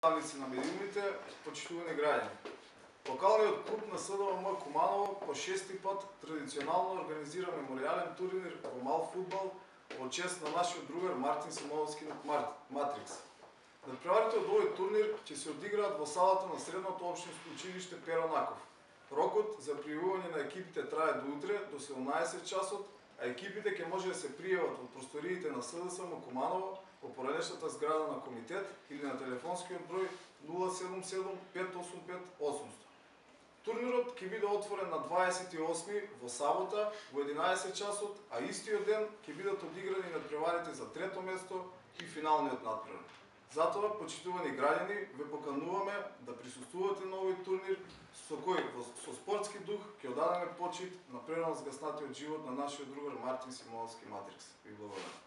Представници на медиумите, почитувани граѓани. Локалниот клуб на СДВМ Куманово по 6-ти пат традиционално организира меморијален турнир во мал фудбал во чест на нашиот другар Мартин Симоновски Матрикс. Надпреварите од овој турнир ќе се одиграат во салата на Средното општинско училиште Перо Наков. Рокот за пријавување на екипите трае до утре до 17 часот, а екипите ќе може да се пријават во просториите на СДСМ Куманово во поранешната зграда на комитет или на телефонскиот број 077 585 800. Турнирот ќе биде отворен на 28 во сабота во 11 часот, а истиот ден ќе бидат одиграни надпреварите за трето место и финалниот надпревар. Затоа, почитувани граѓани, ве покануваме да присуствувате на овој турнир со кој со спортски дух ќе одадеме почит на прерано згаснатиот живот на нашиот другар Мартин Симоновски Матрикс. Ви благодарам.